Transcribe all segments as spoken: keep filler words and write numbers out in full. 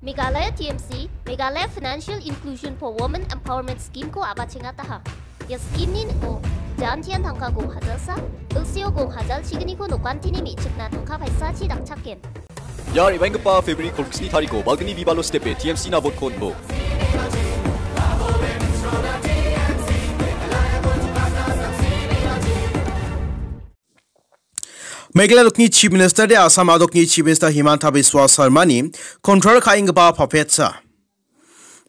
Meghalaya T M C, Meghalaya Financial Inclusion for Women Empowerment Scheme-ko a·bachengataha. Ia scheme-ni ning·o jantian tangka gong hajalsa, ilsio gong hajal chigniko nokantini me·chikna tangka paisachi dakchaken. Ia re·baenggipa February kolgni tariko balgni Vivalo stepe T M C-na vote-ko on·bo. Meghalaya dokni Chief Minister de Assam a·dokni Chief Minister Himanta Biswa Sarmani control ka·enggipa puppet-sa.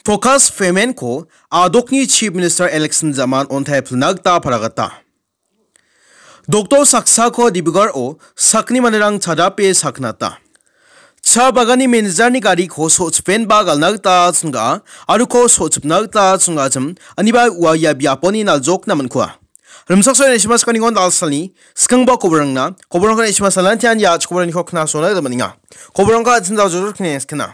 Focus payment-ko a·dokni Chief Minister election jaman ontai pilna gita paragata. Doctor saksako Dibrugarh-o sakni manderang chadape saknata. Cha baganni manager-ni gariko so·chipenba galna gita chingga, aro uko so·chipna gita chingachim, aniba ua ia biaponi naljokna man·kua. Rimchaksoa Neshima Skanningon Dalsalni skangba koborangna, koborangko Neshima Salantian ia koboraniko knasona gita man·enga. Koborangko an·ching daljojor kneskena.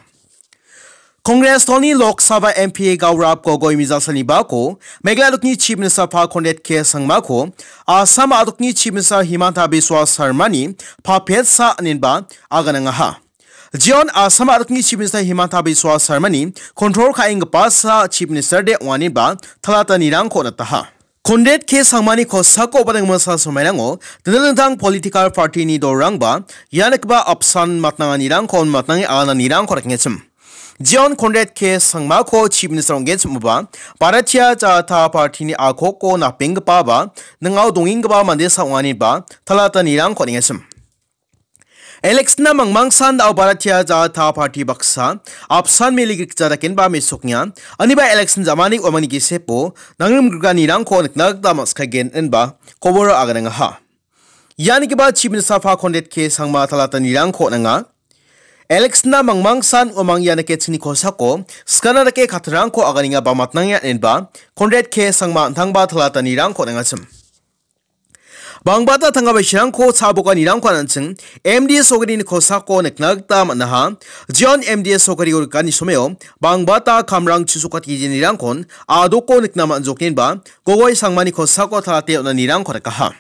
Congress doni Lok Sabha M P Gaurav Gogoi mijalsalni bako Meghalaya dokni Chief Minister pa Conrad K Sangmako Assam a·dokni Chief Minister Himanta Biswa Sarmani puppet-sa inenba aganangaha. Jeon Assam a·dokni Chief Minister Himanta Biswa Sarmani control ka·enggipa sa Chief Minister de ong·anenba talata nirangko on·ataha. Conrad K Sangmani kosako badengmasa somairango dingtang dingtang political party-ni dolrangba ia nikgipa apsan matnanganirangko matnange agananirangko rakengachim. Jeon Conrad K Sangmako Chief Minister ong·genchimoba, Bharatiya Janata Party-ni akoko napenggipaba, ning·ao dongenggipa mandesa ong·anenba talata nirangko on·engachim. Election-na mangmangsan da·o Bharatiya Janata Party baksa apsan mele grikja dakenba mesoknga, aniba election jamani uamangni gisepo nangrim grikanirangko nikna gita man·sikagen inba koboro aganangaha. Ia nikgipa Chief Minister pa Conrad K Sangma talata nirangko on·anga. Election-na mangmangsan uamang ia nike chingni kosako skana dake katirangko aganenga ba matnangenga inba Conrad K Sangma an·tangba talata nirangko on·angachim. Bangbata tangka baisirangko cha·bokanirangko an·ching M D A sorkarini kosako nikna gita man·aha. Jeon M D A sorkariko rikani someo bangbata kamrang chisokatgijenirangkon a·doko nikna man·joknenba Gogoi Sangmani kosako talate on·anirangko rikaha.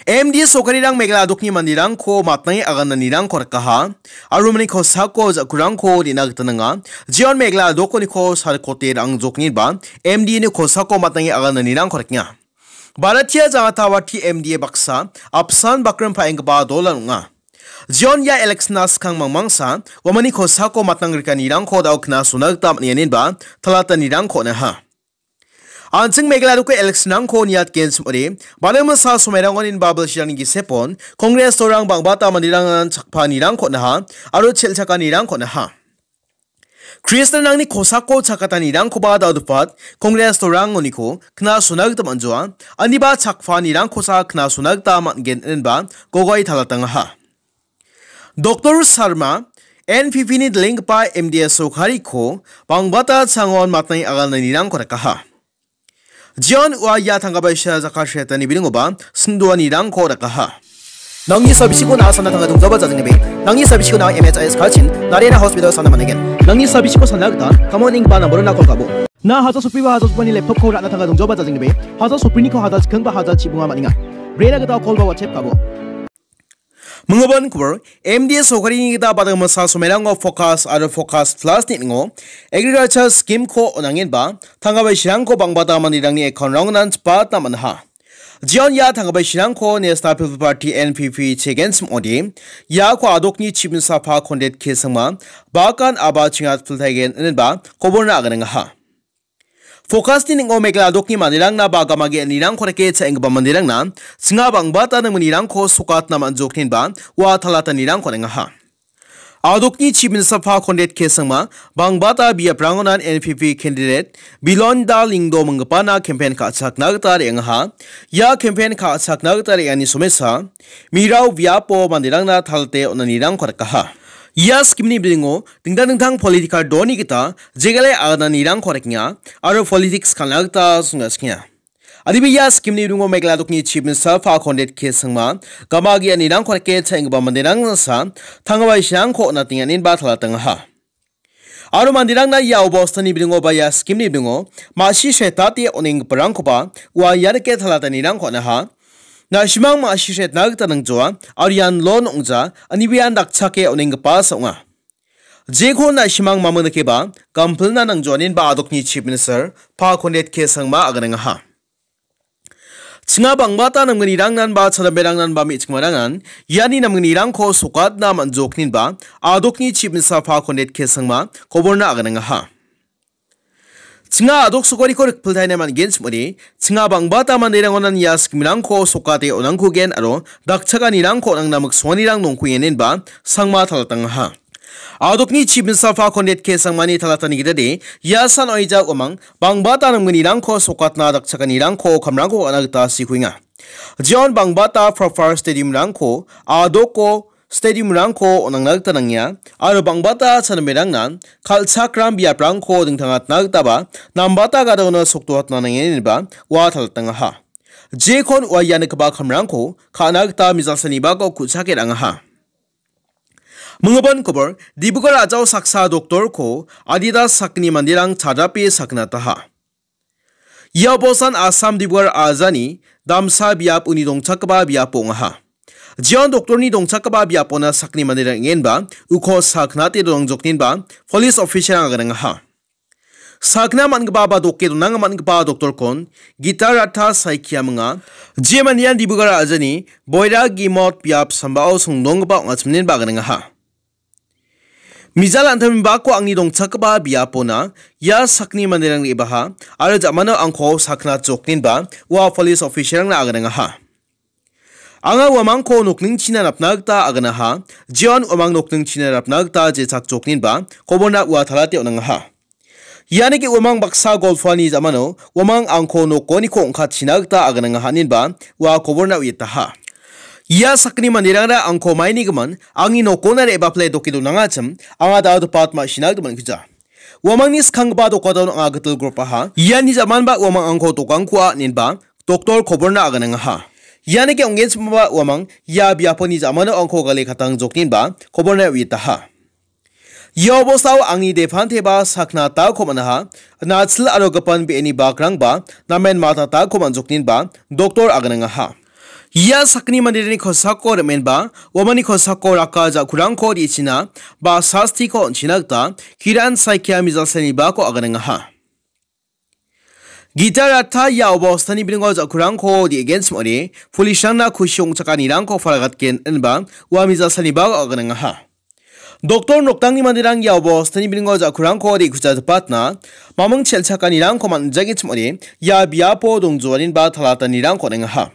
M D A sorkarirang Meghalaya a·dokni manderangko matnange agananirangko rikaha. Aro mani kosako ja·kurangko re·na gita nanga. Jeon Meghalaya a·dokoniko salkote rang·joknenba M D A-ni kosako matnange agananirangko rikenga. Bharatiya Janata Party M D A baksa apsan bakrim pa·enggipa dolan ong·a. Jeon ia election-na skang mangmangsa uamangni kosako matnang grikanirangko da·o knasona gita man·enganenba talatanirangko on·aha. An·ching Meghalaya a·doko election-rangko niatgenchim ong·ode, balmingsa somairangoninba bilsirangni gisepon Congress dolrang bangbata manderangna chakpanirangko on·aha aro chel·chakanirangko on·aha. Kristianrangni kosako chakatanirangkoba da·odepat Congress dolrangoniko knasona gita man·joa, aniba chakpanirangkosa knasona gita man·gen, inenba Gogoi talatangaha. Doctor Sarma, N P P-ni dilenggipa M D A sorkariko bangbata changon matnange agananirangko rikaha. Jeon ua ia tangka baisa jakasretani bilingoba singdoanirangko rikaha. Nangni sabisiko na·a sana tangka dongjoba jajingnibe. Nangni sabisiko na·a M H I S kachin, Narayana Hospital sana man·aigen. Nangni sabisiko sana gita, kamon ning ba namborona kol kabo. Na haja sopiba haja sopani laptop-ko ra·na tangka dongjoba jajingnibe. Haja sopiniko haja chikengba haja chibunga man·enga. Brena gita kol ba WhatsApp kabo. Minggipa kobor, M D A sorkarini gita badang masa somairango Focus aro Focus Plus-ni ning·o Agriculture Scheme-ko on·angenba, tangka baisirangko bangbata manderangni account-rangonan chipatna man·aha. Jeon ia tangka baisirangko National People Party, N P P, chegenchim ong·ode, iako a·dokni Chief Minister pa Conrad K Sangma, bakan aba chingat piltaigen inenba koborna aganangaha. Focus-ni ning·o Meghalaya a·dokni manderangna ba gamagi anirangko rike cha·enggipa manderangna chinga bangbata nangmanirangko sokatna man·joknenba ua talatanirangko on·angaha. A·dokni Chief Minister pa Conrad K Sangma bangbata biaprangonan N P P candidate Bilonda Lyngdoh minggipana campaign ka·chakna gita re·angaha. Ia campaign ka·chakna gita re·ani somesa mirao biapo manderangna talate on·anirangko rikaha. Ia scheme-ni bilingo dingtang dingtang political doni gita jegale agananirangko rikenga aro politics ka·na gita songachkenga. Adiba ia scheme-ni bilingo Meghalaya a·dokni Chief Minister pa Conrad K Sangma gamagi anirangko rike cha·enggipa manderangsa tangka baisirangko on·atenga inenba talatangaha. Aro manderangna ia obostani bilingo ba ia scheme-ni bilingo ma·si setate on·enggiparangkoba ua ia rike talatanirangko on·aha. Na·simang ma·si setna gita nangjoa aro ian loan ong·ja, aniba ian dakchake on·enggipasa ong·a. Jeko na·simang mamon dakeba, gampilna nangjoanin ba adokni Chief Minister, Pa Conrad K Sangma aganengaha. Chinga bangbata namgnirangnan ba chadamberangnan ba me·chikmarangnan, iani namgnirangko sokatna man·joknin ba, adokni Chief Minister Pa Conrad K Sangma, koborna aganengaha. Chinga adok sokoriko rikpiltaina man·gen chim·ode, chinga bangbata manderangonan ia sikmrangko sokate on·angkugen aro dakchakanirangko on·angna miksonganirang nongkuenenba sangma talatangaha. Adokni Chief Minister Pa Conrad K Sangmani talatani gitade, ia san oija uamang bangbata namgnirangko sokatna dakchakanirangko kamrangko on·a gita sikuenga. Jeon bangbata proper stadium-rangko adoko stadium-rangko on·angna gita nangenga, aro bangbata chadamberangna kal·chakram biaprangko dingtangatna gitaba nambata gadona sokdoatna nangenba ua talatangaha. Jekon ua ia nikgipa kamrangko ka·na gita mijalsanibako ku·chake ra·angaha. Minggipan kobor, Dibrugarh a·jao saksa doktorko Adidas sakgni manderang chadrape sakgnataha. Ia bosan Assam Dibrugarh a·jani damsa biap uni dongchakgipa biapo ong·aha. Jeon doktorni dongchakgipa biapona sakni manderang ong·enba uko saknate donangjokninba police officer-rang aganengaha. Sakna man·gipa ba doke donang man·gipa doktorkon Gita Ratha Saikia minga, jemanian Dibrugarh a·jani Boira Gimot biap sambao songdonggipa ong·achimninba aganengaha. Mijal an·tangni bako angni dongchakgipa biapona ia sakni manderang re·baha aro jamano angko sakna jokninba ua police officer-rangna aganengaha. Anga uamangko nokningchina napna gita aganaha, jeon uamang nokningchina napna gita jechak jokninba koborna ua talate on·angaha. Ianike uamang baksa golpoani jamano uamang angko nokoniko ong·katchina gita aganangaha ninba ua koborna uiataha. Ia sakgni manderangra angko mainigimin angni nokona re·bapile doke donangachim, anga dao dopat ma·sina gita man·kuja. Uamangni skanggipa dokadon anga gitil gropaha. Iani jamanba uamang angko dokangkua ninba doktor koborna aganangaha. Ianike ong·genchimaba uamang ia biaponi jamano angko gale katang jokninba koborna uiataha. Ia obostao angni depanteba sakna taoko man·aha, nachil aro gipan be·eni bakrangba namen matatako man·jokninba doktor aganangaha. Ia sakgni manderangni kosako remenba, uamangni kosako raka ja·kurangko re·china ba sastiko on·china gita Kiran Saikia mijalsenibako aganangaha. Gita Ratha ia obostani bilingo ja·kurangko re·genchim ong·ode, police-rangna kusi ong·chakanirangko palagatgen inba ua mijalsaniba aganangaha. Doktor noktangni manderang ia obostani bilingo ja·kurangko re·kujatpatna maming chelchakanirangko man·jagechim ong·ode, ia biapo dongjoaninba talatanirangko on·engaha.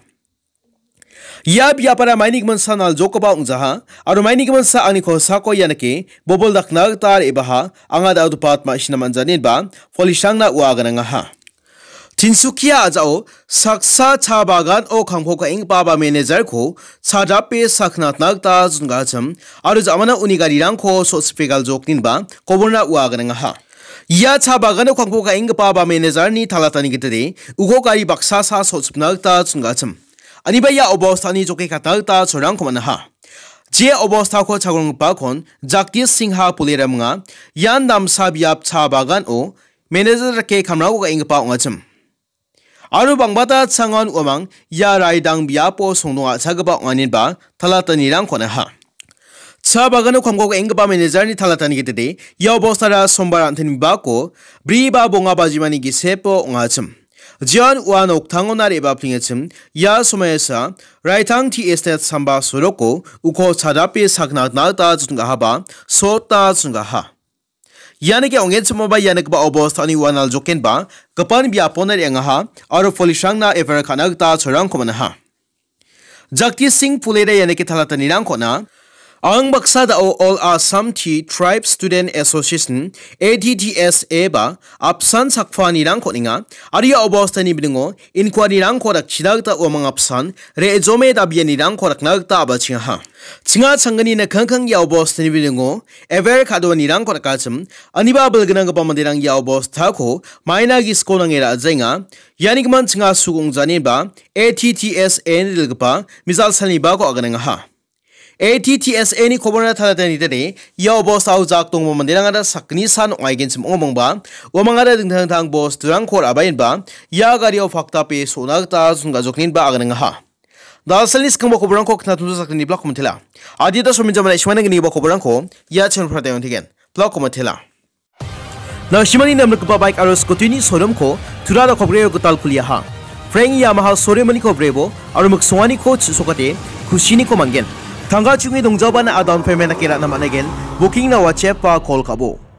Ia biapara maini giminsa naljokgipa ong·jaha, aro maini giminsa angni kosako ianike bobol dakna gita re·baha, anga dao dopat ma·sina man·janinba police-rangna ua aganangaha. Tinsukia a·jao saksa cha bagano kamko ka·enggipa ba manager-ko chadrape saknatna gita jongachim, aro jamana uni garirangko so·sripe galjokninba koborna ua aganangaha. Ia cha bagano kamko ka·enggipa ba manager-ni talatani gitade uko gari baksa sa so·sripna gita jongachim. Aniba ia obostani joke katna gita cholrangko man·aha. Je obostako chagronggripakon Jagdish Singha pulera minga, ian damsa biap cha bagano manager dake kamrangko ka·enggipa ong·achim. Aro bangbata changon uamang ia raidang biapo songdong a·chagipa ong·aninba talatanirangko on·aha. Cha bagano kamko ka·enggipa manager-ni talatani gitade ia obostara sombar an·teni bako bri ba bonga bajimani gisepo ong·achim. Jeon ua noktangona re·baplengachim, ia somoisa Raitang Tea Estate samba soroko uko chadape sakna gita jotgahaba sota jotgaha. Ianike ong·genchimoba ia nikgipa obostani ua naljokenba gipan biapona re·angaha aro police-rangna F I R ka·na gita cholrangko man·aha. Jagdish Singh Pulera ianike talatanirangko on·a. Ang baksa dao All Assam Tea Tribe Student Association, A T T S A ba apsan sakpanirangko on·enga. Aro ia obostani bilingo inquiry-rangko dakchina gita uamang apsan re·jome dabianirangko dakna gita a·bachengaha. Chinga changgni nikangkang ia obostani bilingo F I R ka·doanirangko dakachim, aniba bilgnanggipa manderang ia obostako maina gisiko nange ra·jaenga. Iani gimin chinga sugong janiba A T T S A-ni dilgipa mijalsalnibako aganengaha. A T T S A-ni koborna talatani dade, ia obostao jak donggipa manderangara sakgni san ong·aigenchim ong·omongba, uamangara dingtang dingtang bosturangko ra·baenba, ia gario pakdape so·na gita jongajokninba aganengaha. Dalsalni skangba koborangko knatumsa sakgni blak komentela. Adita sominjamana ismana gniba koborangko, ia channel-o prateng ong·tigen. Blog komatela. Nangsimani namrikgipa baik aro scooty-ni showroom-ko tura dakogreo gital kuliaha. Frank Yamaha showroom-ni kobrebo aro miksonganiko chisokate kusiniko manggen. Tangka chungi dongjabana a down payment dake ra·na man·aigen. Booking-na WhatsApp-a call ka·bo.